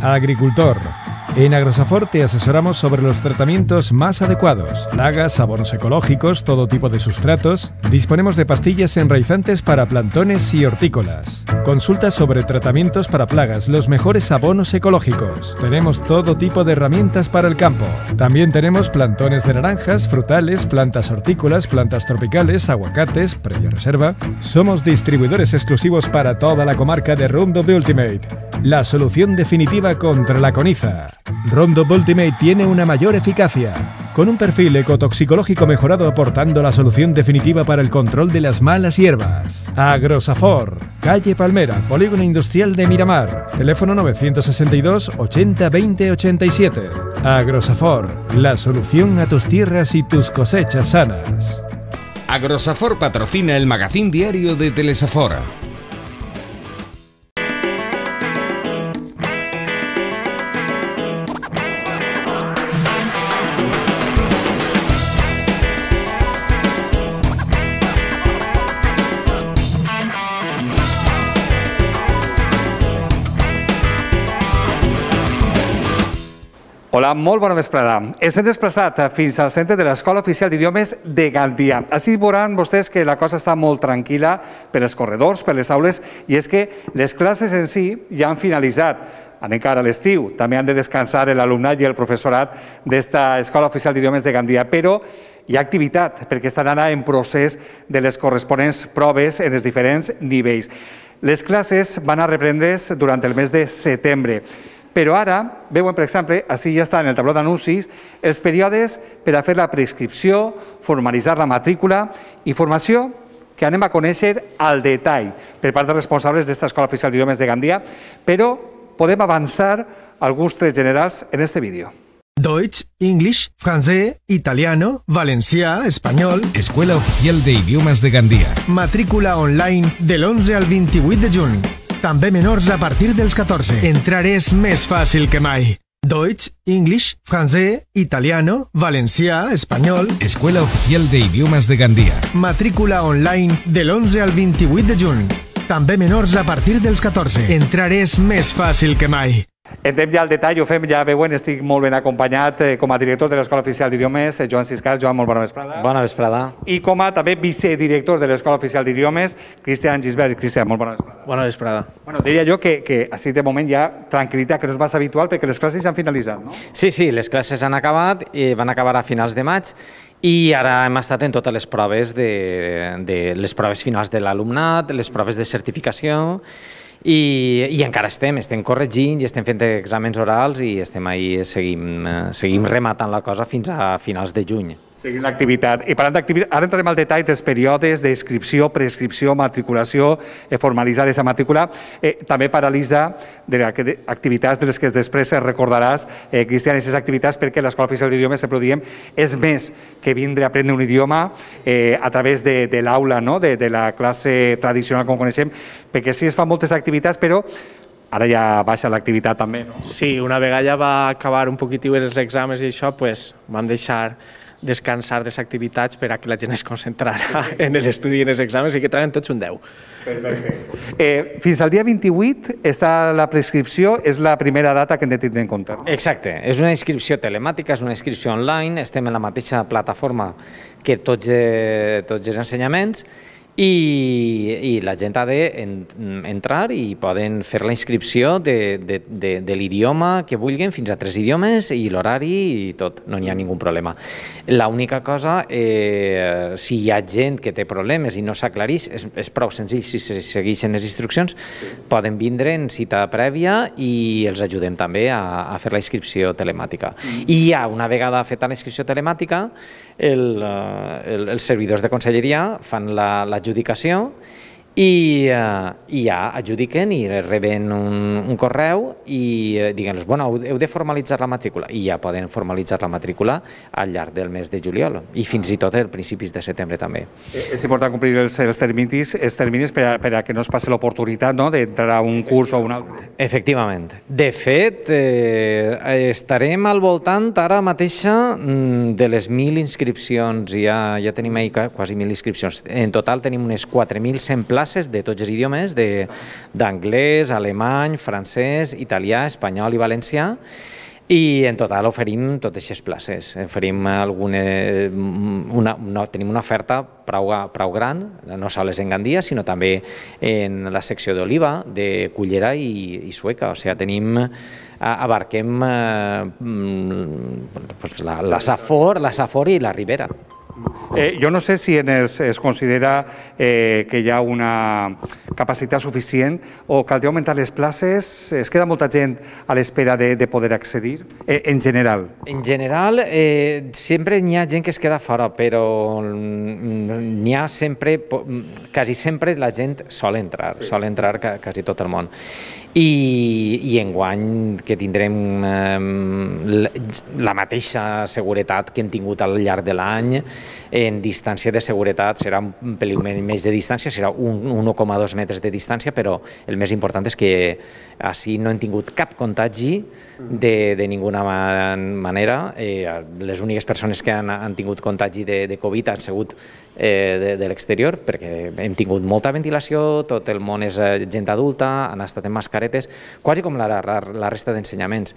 agricultor. En Agrosafor te asesoramos sobre los tratamientos más adecuados, plagas, abonos ecológicos, todo tipo de sustratos. Disponemos de pastillas enraizantes para plantones y hortícolas. Consulta sobre tratamientos para plagas, los mejores abonos ecológicos. Tenemos todo tipo de herramientas para el campo. También tenemos plantones de naranjas, frutales, plantas hortícolas, plantas tropicales, aguacates, previa reserva. Somos distribuidores exclusivos para toda la comarca de Roundup Ultimate, la solución definitiva contra la coniza. Roundup Ultimate tiene una mayor eficacia, con un perfil ecotoxicológico mejorado aportando la solución definitiva para el control de las malas hierbas. Agrosafor, calle Palmera, Polígono Industrial de Miramar, teléfono 962 80 20 87. Agrosafor, la solución a tus tierras y tus cosechas sanas. Agrosafor patrocina el magazín diario de Telesafor. Hola, molt bona vesprada. Ens hem desplaçat fins al centre de l'Escola Oficial d'Idiomes de Gandia. Així veuran vostès que la cosa està molt tranquil·la per els corredors, per les aules, i és que les classes en si ja han finalitzat. Anem cara a l'estiu, també han de descansar l'alumnat i el professorat d'esta Escola Oficial d'Idiomes de Gandia, però hi ha activitat, perquè estan ara en procés de les corresponents proves en els diferents nivells. Les classes van a reprendre's durant el mes de setembre. Però ara, veuen, per exemple, així ja està en el tabló d'anuncis, els períodes per a fer la preinscripció, formalitzar la matrícula i formació que anem a conèixer al detall per part dels responsables d'esta Escola Oficial d'Idiomes de Gandia, però podem avançar alguns trets generals en este vídeo. Deutsch, English, francès, italiano, valencià, espanyol... Escuela Oficial de Idiomes de Gandia. Matrícula online de l'11 al 28 de juny. També menors a partir dels 14. Entrar és més fàcil que mai. Deutsch, English, francès, italiano, valencià, espanyol... Escuela Oficial de Idiomes de Gandia. Matrícula online de l'11 al 28 de juny. També menors a partir dels 14. Entrar és més fàcil que mai. Entrem ja al detall, ho fem, ja veuen, estic molt ben acompanyat com a director de l'Escola Oficial d'Idiomes, Joan Siscar. Joan, molt bona vesprada. Bona vesprada. I com a també vicedirector de l'Escola Oficial d'Idiomes, Cristian Gisbert. Cristian, molt bona vesprada. Bona vesprada. Bueno, diria jo que així de moment hi ha tranquil·litat, que no és massa habitual, perquè les classes ja han finalitzat, no? Sí, les classes han acabat, i van acabar a finals de maig, i ara hem estat en totes les proves les proves finals de l'alumnat, les proves de certificació, i encara estem corregint i estem fent exàmens orals i estem ahí, seguim rematant la cosa fins a finals de juny. Seguint l'activitat. I parlant d'activitat, ara entrarem al detall dels períodes d'inscripció, prescripció, matriculació, formalitzar aquesta matrícula. També paralitza activitats de les que després recordaràs, Cristian, aquestes activitats, perquè l'Escola Oficial d'Idiomes, sempre ho diem, és més que vindre a aprendre un idioma a través de l'aula, de la classe tradicional, com coneixem, perquè sí es fan moltes activitats, però ara ja baixa l'activitat també, no? Sí, una vegada ja va acabar un poquitiu els exàmens i això, vam deixar descansar de les activitats per a que la gent es concentrara en l'estudi i en els exàmens i que traien tots un 10. Perfecte. Fins al dia 28 està la prescripció, és la primera data que hem de tindre en compte. Exacte, és una inscripció telemàtica, és una inscripció online, estem en la mateixa plataforma que tots els ensenyaments, i la gent ha d'entrar i poden fer la inscripció de l'idioma que vulguin, fins a 3 idiomes, i l'horari i tot, no hi ha ningú problema. L'única cosa, si hi ha gent que té problemes i no s'aclareix, és prou senzill, si se segueixen les instruccions, poden vindre en cita prèvia i els ajudem també a fer la inscripció telemàtica. I ja, una vegada feta la inscripció telemàtica, els servidors de conselleria fan l'adjudicació i ja adjudiquen i reben un correu i diguem-los, bueno, heu de formalitzar la matrícula, i ja poden formalitzar la matrícula al llarg del mes de juliol i fins i tot a principis de setembre també. És important complir els terminis per a que no es passi l'oportunitat d'entrar a un curs o a un altre. Efectivament. De fet, estarem al voltant ara mateixa de les 1.000 inscripcions, ja tenim ahir quasi 1.000 inscripcions. En total tenim unes 4.100 places classes de tots els idiomes, d'anglès, alemany, francès, italià, espanyol i valencià, i en total oferim totes aquestes places. Oferim tenim una oferta prou gran, no sols en Gandia, sinó també en la secció d'Oliva, de Cullera i Sueca. O sigui, abarquem la Safor i la Ribera. Jo no sé si es considera que hi ha una capacitat suficient o caldria augmentar les places. Es queda molta gent a l'espera de poder accedir, en general? En general, sempre n'hi ha gent que es queda fora, però n'hi ha sempre, quasi sempre la gent sol entrar quasi tot el món. I enguany que tindrem la mateixa seguretat que hem tingut al llarg de l'any. En distància de seguretat serà un pel·lín més de distància, serà 1,2 metres de distància, però el més important és que així no hem tingut cap contagi de ninguna manera. Les úniques persones que han tingut contagi de Covid han sigut de l'exterior, perquè hem tingut molta ventilació, tot el món és gent adulta, han estat en mascaretes, quasi com la resta d'ensenyaments.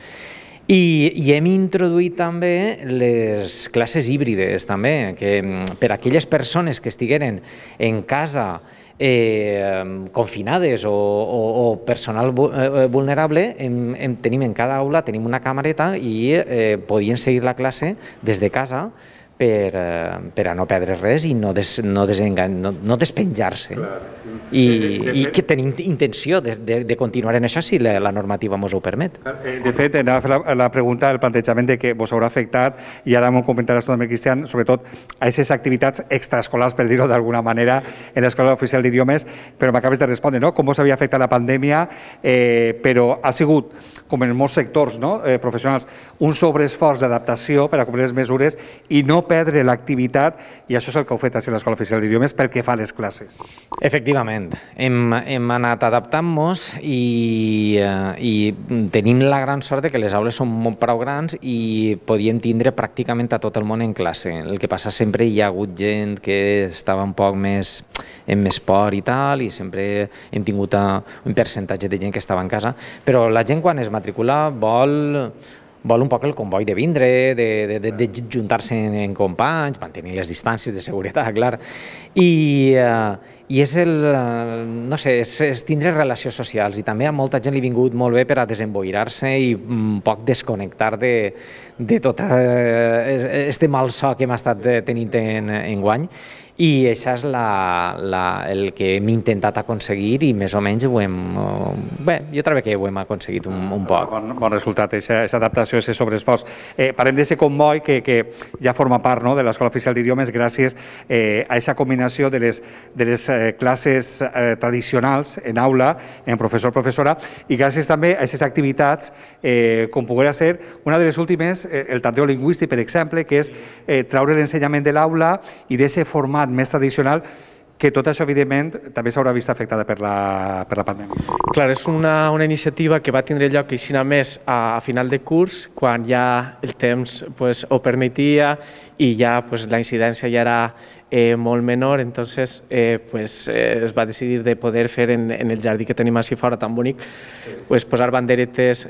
I hem introduït també les classes híbrides, també, que per a aquelles persones que estigueren en casa confinades o personal vulnerable, tenim en cada aula una camareta i podien seguir la classe des de casa per a no perdre res i no despenjar-se. I que tenim intenció de continuar en això si la normativa ens ho permet. De fet, anava a fer la pregunta, el plantejament de que vos haurà afectat, i ara m'ho comentaràs tu també, Cristian, sobretot a aquestes activitats extraescolars, per dir-ho d'alguna manera, en l'Escola Oficial d'Idiomes, però m'acabes de respondre, no? Com vos havia afectat la pandèmia, però ha sigut, com en molts sectors professionals, un sobreesforç d'adaptació per a complir les mesures i no perdre l'activitat, i això és el que heu fet a l'Escola Oficial d'Idiomes pel que fa a les classes. Efectivament, hem anat adaptant-nos i tenim la gran sort que les aules són molt prou grans i podíem tindre pràcticament a tot el món en classe. El que passa, sempre hi ha hagut gent que estava un poc més en més por i tal, i sempre hem tingut un percentatge de gent que estava en casa, però la gent quan es matricula vol un poc el comboi de vindre, de juntar-se en companys, mantenir les distàncies de seguretat, clar. I és no sé, és tindre relacions socials, i també a molta gent li ha vingut molt bé per a desemboirar-se i un poc desconnectar de tot este malson que hem estat tenint enguany. I això és el que hem intentat aconseguir i més o menys ho hem... Bé, jo trobo que ho hem aconseguit un poc. Bon resultat, aquesta adaptació, aquest sobreesforç. Parlem d'aquest comboi que ja forma part de l'Escola Oficial d'Idiomes gràcies a aquesta combinació de les classes tradicionals en aula, en professor-professora, i gràcies també a aquestes activitats com poguera ser una de les últimes, el tanteo lingüístic, per exemple, que és traure l'ensenyament de l'aula i d'aquest format més tradicional, que tot això, evidentment, també s'haurà vist afectada per la pandèmia. Clar, és una iniciativa que va tindre lloc així més a final de curs, quan ja el temps ho permetia i ja la incidència ja era molt menor, entonces es va decidir de poder fer en el jardí que tenim així fora tan bonic, posar banderetes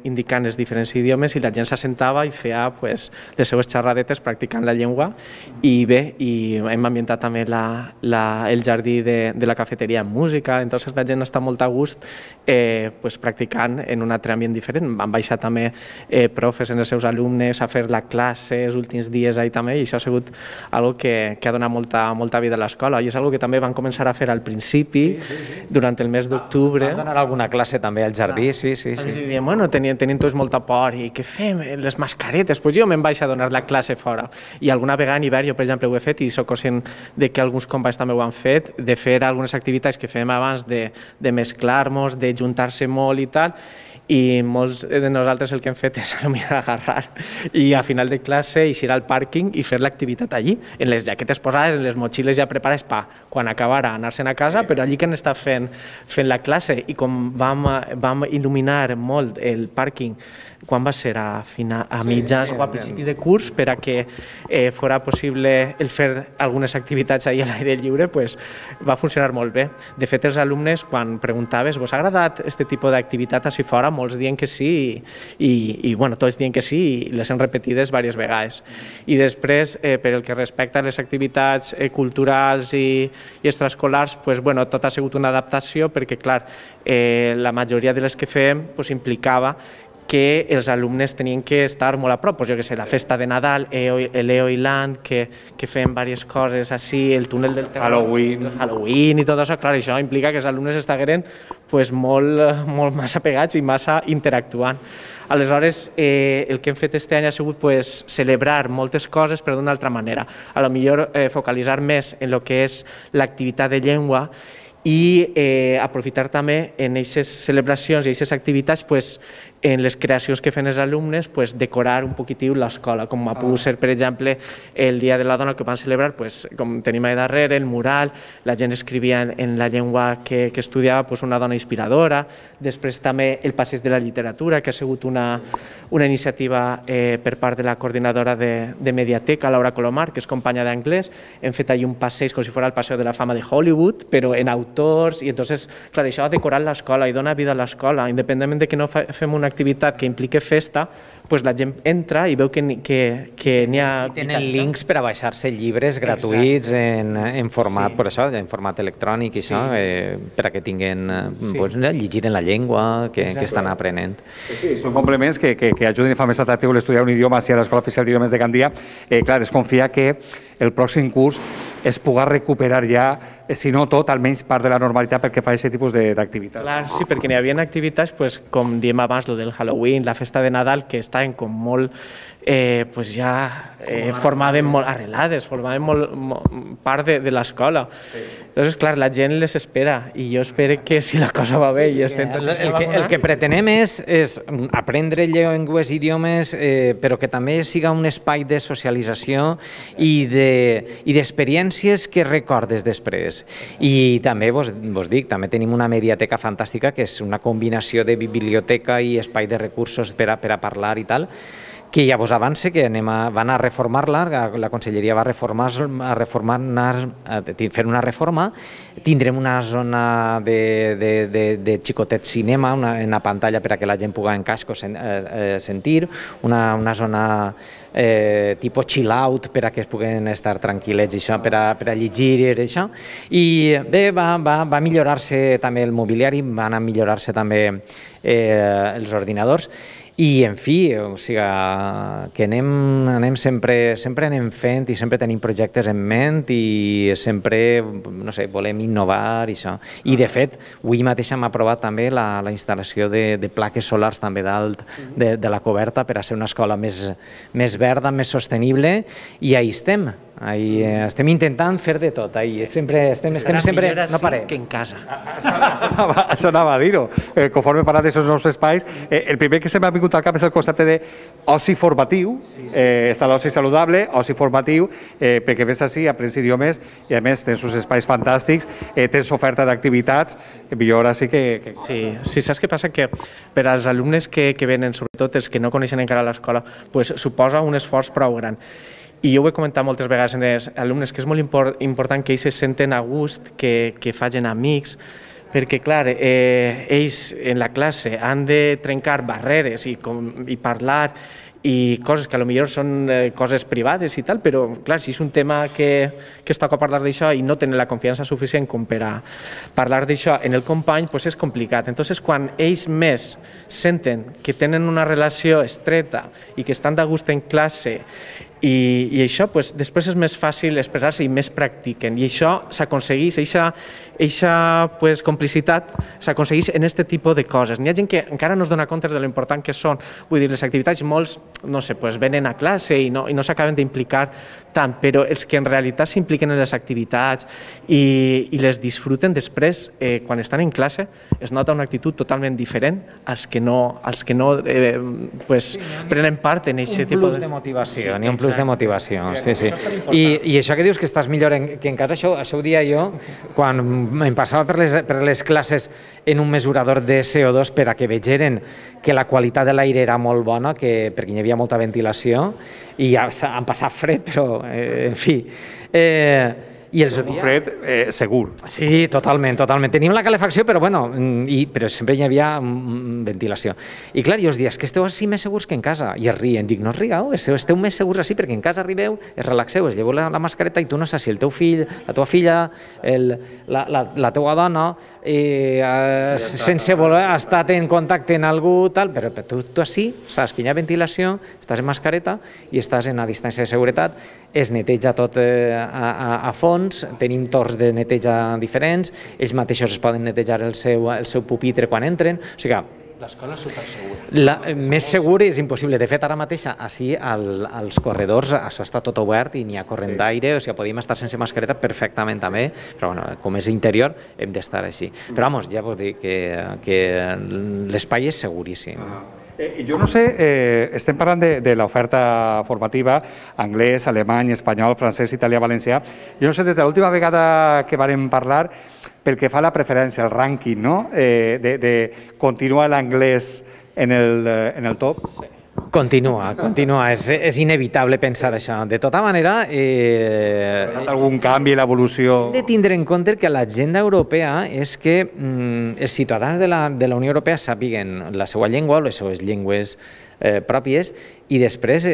indicant els diferents idiomes, i la gent s'assentava i feia les seues xerradetes practicant la llengua. I bé, hem ambientat també el jardí de la cafeteria amb música, entonces la gent està molt a gust practicant en un altre ambient diferent. Van baixar també profes en els seus alumnes a fer la classe els últims dies ahí també, i això ha sigut algo que ha donat molta vida a l'escola, i és algo que també van començar a fer al principi, durant el mes d'octubre. Van donar alguna classe també al jardí, sí. I diem, bueno, tenien tots molta por, i què fem? Les mascaretes? Doncs jo me'n vaig a donar la classe fora. I alguna vegada en hivern, jo per exemple ho he fet, i soc conscient que alguns companys també ho han fet, de fer algunes activitats que fem abans de mesclar-nos, de juntar-se molt i tal, i molts de nosaltres el que hem fet és agarrar i a final de classe eixir al pàrquing i fer l'activitat allí, en les jaquetes posades, en les motxilles ja preparades per quan acabara anar-se'n a casa, però allí que han estat fent la classe. I com vam il·luminar molt el pàrquing quan va ser a mitjans o a principi de curs per a que fora possible el fer algunes activitats ahir a l'aire lliure, va funcionar molt bé. De fet, els alumnes, quan preguntaves «Vos ha agradat aquest tipus d'activitat així fora?», molts diuen que sí i tots diuen que sí i les hem repetides diverses vegades. I després, per el que respecta a les activitats culturals i extraescolars, tot ha sigut una adaptació perquè, clar, la majoria de les que fem implicava que els alumnes tenien que estar molt a prop, jo què sé, la festa de Nadal, l'EO Island, que fem diverses coses així, el túnel del Halloween i tot això, clar, això implica que els alumnes estagueren molt massa pegats i massa interactuant. Aleshores, el que hem fet aquest any ha sigut celebrar moltes coses però d'una altra manera, a lo millor focalitzar més en el que és l'activitat de llengua i aprofitar també en aquestes celebracions i aquestes activitats en les creacions que fan els alumnes decorar un poquitiu l'escola, com ha pogut ser, per exemple, el Dia de la Dona que van celebrar, com tenim allà darrere, el mural, la gent escrivia en la llengua que estudiava una dona inspiradora, després també el passeig de la literatura, que ha sigut una iniciativa per part de la coordinadora de Mediateca, Laura Colomar, que és companya d'anglès, hem fet allà un passeig com si fos el Passeig de la Fama de Hollywood, però en autors, i entonces, clar, això ha decorat l'escola i dona vida a l'escola, independentment de que no fem una activitat que implique festa, la gent entra i veu que n'hi ha... I tenen links per a baixar-se llibres gratuïts en format, per això, en format electrònic i això, per a que tinguin, llegir en la llengua que estan aprenent. Sí, són complements que ajuden i fan més atractiu l'estudiar un idioma a l'Escola Oficial d'Idiomes de Gandia. Clar, es confia que el pròxim curs es pugui recuperar ja, si no tot, almenys part de la normalitat pel que fa a aquest tipus d'activitats. Clar, sí, perquè n'hi havia activitats, com diem abans, el del Halloween, la festa de Nadal, que estaven com molt, ja formaven molt arrelades, formaven molt part de l'escola. Llavors, clar, la gent les espera i jo espero que si la cosa va bé i estem tots... El que pretenem és aprendre llengües i idiomes, però que també siga un espai de socialització i d'experiències que recordes després. I també vos dic, també tenim una mediateca fantàstica que és una combinació de biblioteca i espai de recursos per a parlar i tal, que ja vos avance que van a reformar-la, la Conselleria va fer una reforma, tindrem una zona de xicotet cinema, una pantalla per a que la gent pugui en casco sentir, una zona tipus chill out per a que es puguen estar tranquil·lets per a llegir i això. I bé, va millorar-se també el mobiliari, van a millorar-se també els ordinadors. I, en fi, o sigui, que anem sempre anem fent i sempre tenim projectes en ment i sempre, no sé, volem innovar i això. I, de fet, avui mateix hem aprovat també la instal·lació de plaques solars també dalt de la coberta per a ser una escola més verda, més sostenible, i ahí estem. Estem intentant fer de tot, estem sempre, no parem. Que en casa. Això anava a dir-ho. Conforme parlat d'aquests nous espais, el primer que se m'ha vingut al cap és el concepte d'oci formatiu, està l'oci saludable, oci formatiu, perquè ves així, aprens idiomes i a més tens uns espais fantàstics, tens oferta d'activitats, millor així que... Sí, saps què passa? Que per als alumnes que venen, sobretot els que no coneixen encara l'escola, suposa un esforç prou gran. I jo ho he comentat moltes vegades en els alumnes, que és molt important que ells se senten a gust, que facin amics, perquè, clar, ells en la classe han de trencar barreres i parlar i coses que potser són coses privades i tal, però, clar, si és un tema que es toca parlar d'això i no tenen la confiança suficient com per a parlar d'això en el company, doncs és complicat. Entonces, quan ells més senten que tenen una relació estreta i que estan de gust en classe I això després és més fàcil expressar-se i més practiquen, i això s'aconsegueix, eixa complicitat s'aconsegueix en aquest tipus de coses. N'hi ha gent que encara no es dona compte de lo important que són, vull dir, les activitats, molts, no sé, venen a classe i no s'acaben d'implicar tant, però els que en realitat s'impliquen en les activitats i les disfruten després, quan estan en classe, es nota una actitud totalment diferent als que no prenen part en aquest tipus de... Un plus de motivació, ni un plus de motivació, sí. I això que dius que estàs millor que en casa, això ho dia jo quan em passava per les classes en un mesurador de CO2 per a que vegeren que la qualitat de l'aire era molt bona, perquè hi havia molta ventilació, i ja han passat fred, però, en fi... Un fred segur. Sí, totalment. Tenim la calefacció, però però sempre hi havia ventilació. I clar, jo els dies que esteu així més segurs que en casa. I es rien. Dic, no us rigueu, esteu més segurs així perquè en casa arribeu, es relaxeu, es lleveu la mascareta i tu no saps si el teu fill, la teva filla, la teua dona, sense voler ha estat en contacte amb algú, però tu així saps que hi ha ventilació, estàs en mascareta i estàs en una distància de seguretat, es neteja tot a fons, tenim torns de neteja diferents, ells mateixos es poden netejar el seu pupitre quan entren, o sigui que l'escola és supersegura. Més segur és impossible. De fet, ara mateix, així, als corredors, això està tot obert i n'hi ha corrent d'aire, o sigui, podíem estar sense mascareta perfectament també, però com és interior, hem d'estar així. Però, ja vull dir que l'espai és seguríssim. Jo no sé, estem parlant de l'oferta formativa, anglès, alemany, espanyol, francès, italià, valencià. Jo no sé, des de l'última vegada que vàrem parlar, pel que fa a la preferència, el rànquing, no? De continuar l'anglès en el top. Continua, és inevitable pensar això. De tota manera... ¿Ha algun canvi, l'evolució? Hem de tindre en compte que l'agenda europea és que els ciutadans de la Unió Europea sàpiguen la seva llengua, les seves llengües pròpies, i després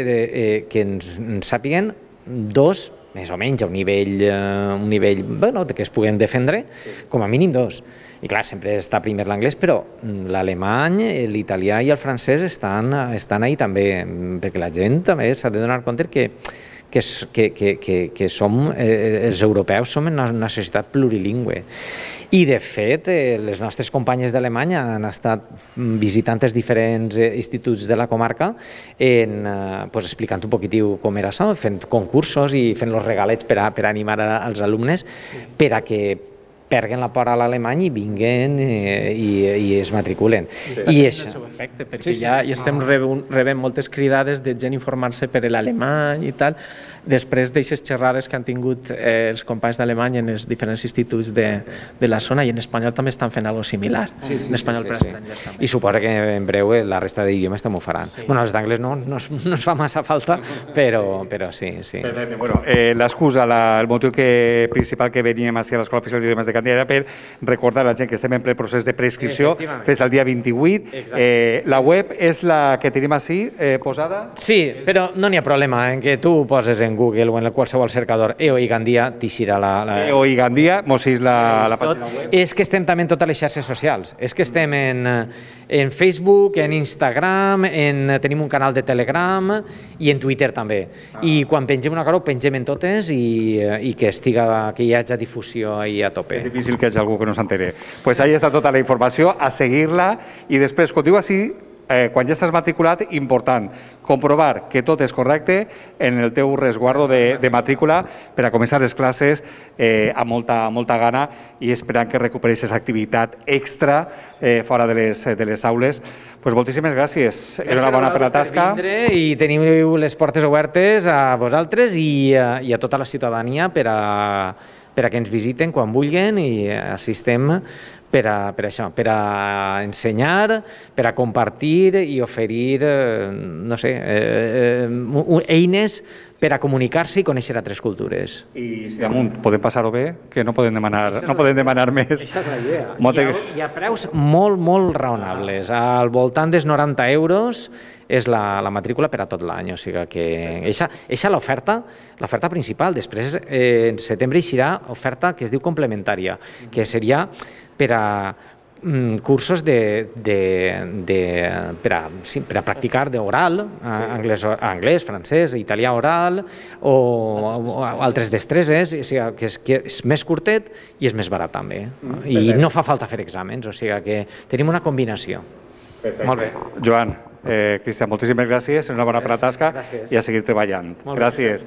que ens sàpiguen dos, més o menys, a un nivell que es puguen defendre, com a mínim dos. I clar, sempre està primer l'anglès, però l'alemany, l'italià i el francès estan ahí també, perquè la gent també s'ha de donar compte que els europeus som una societat plurilingüe. I, de fet, les nostres companyes d'Alemanya han estat visitant els diferents instituts de la comarca explicant un poquitiu com era això, fent concursos i fent els regalets per animar els alumnes per a que perguen la por a l'alemany i vinguen i es matriculen. I això és el seu efecte, perquè ja estem rebent moltes cridades de gent informar-se per l'alemany i tal, després d'aixes xerrades que han tingut els companys d'alemany en els diferents instituts de la zona, i en espanyol també estan fent alguna cosa similar. En espanyol per estrangers també. I suposa que en breu la resta d'idiomes també ho faran. Bueno, els d'anglès no ens fa massa falta, però sí. Bueno, l'excusa, el motiu principal que veníem a l'Escola Oficial d'Idiomes de Gandia era per recordar a la gent que estem en ple procés de preinscripció fins al dia 28. La web és la que tenim així posada? Sí, però no n'hi ha problema en que tu poses en Google o en qualsevol cercador EOI Gandia, t'eixirà la... EOI Gandia, mos és la pàgina web. És que estem també en totes les xarxes socials. És que estem en Facebook, en Instagram, tenim un canal de Telegram i en Twitter també. I quan pengem una cosa ho pengem en totes i que hi hagi difusió ahí a tope. És difícil que hi hagi algú que no s'entere. Pues ahí està tota la informació, a seguir-la, i després, quan diu així, quan ja estàs matriculat, important, comprovar que tot és correcte en el teu resguardo de matrícula per a començar les classes amb molta gana i esperant que recupereixis activitat extra fora de les aules. Pues moltíssimes gràcies. Enhorabona per la tasca. I teniu les portes obertes a vosaltres i a tota la ciutadania per a que ens visiten quan vulguin i assistem per això, per a ensenyar, per a compartir i oferir, no sé, eines per a comunicar-se i conèixer altres cultures. I si damunt podem passar-ho bé, que no podem demanar més. Aquesta és la idea. Hi ha preus molt raonables. Al voltant dels 90 euros és la matrícula per a tot l'any, o sigui que eixa l'oferta principal. Després, en setembre, eixirà oferta que es diu complementària, que seria per a cursos per a practicar d'oral, anglès, francès, italià oral o altres destreses, o sigui, que és més curtet i és més barat també. I no fa falta fer exàmens, o sigui que tenim una combinació. Molt bé. Joan, Cristian, moltíssimes gràcies, una bona tasca i a seguir treballant. Gràcies.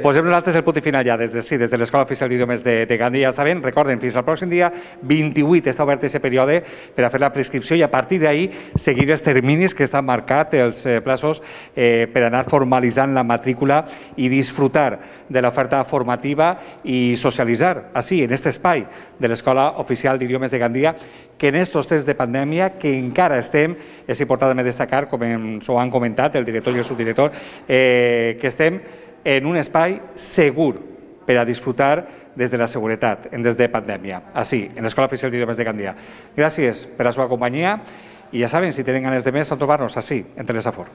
Posem nosaltres el punt i final ja des de l'Escola Oficial d'Idiomes de Gandia. Ja saben, recorden, fins al pròxim dia 28 està obert aquest període per a fer la prescripció i a partir d'ahir seguir els terminis que estan marcats, els plaços per anar formalitzant la matrícula i disfrutar de l'oferta formativa i socialitzar, així, en aquest espai de l'Escola Oficial d'Idiomes de Gandia, que en aquests temps de pandèmia que encara estem, és important destacar, com ens ho han comentat el director i el subdirector, que estem en un espai segur per a disfrutar des de la seguretat, des de pandèmia, així, en l'Escola Oficial d'Idiomes de Gandia. Gràcies per la seva companyia i ja saben, si tenen ganes de més, a trobar-nos així, en Telesafor.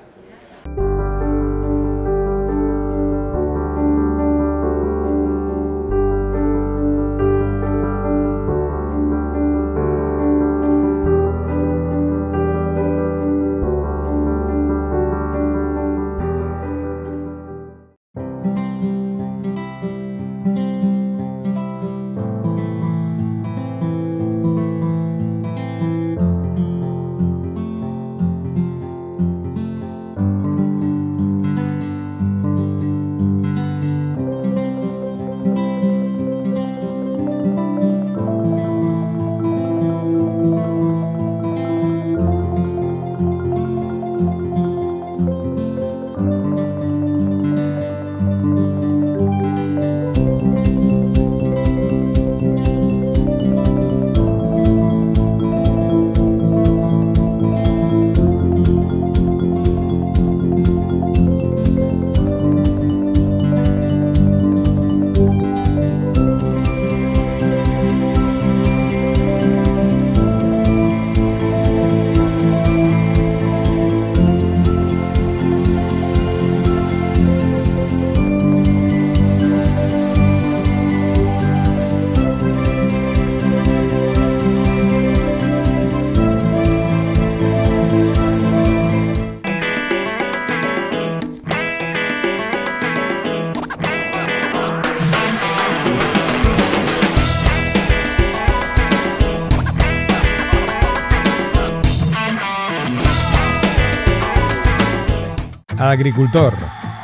Agricultor.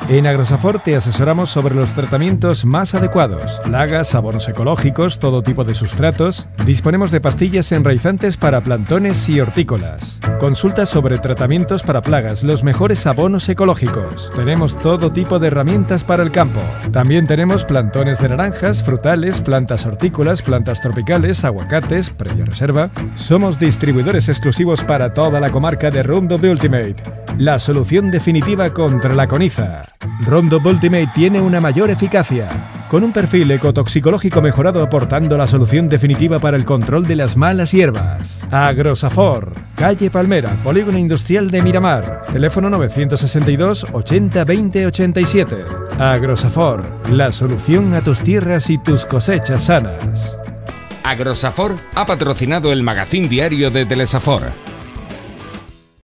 En Agrosafor te asesoramos sobre los tratamientos más adecuados. Plagas, abonos ecológicos, todo tipo de sustratos. Disponemos de pastillas enraizantes para plantones y hortícolas. Consulta sobre tratamientos para plagas, los mejores abonos ecológicos. Tenemos todo tipo de herramientas para el campo. También tenemos plantones de naranjas, frutales, plantas hortícolas, plantas tropicales, aguacates, previa reserva. Somos distribuidores exclusivos para toda la comarca de Roundup Ultimate, la solución definitiva contra la coniza. Roundup Ultimate tiene una mayor eficacia, con un perfil ecotoxicológico mejorado aportando la solución definitiva para el control de las malas hierbas. Agrosafor, calle Palmera, Polígono Industrial de Miramar, teléfono 962 80 20 87. Agrosafor, la solución a tus tierras y tus cosechas sanas. Agrosafor ha patrocinado el magazín diario de Telesafor.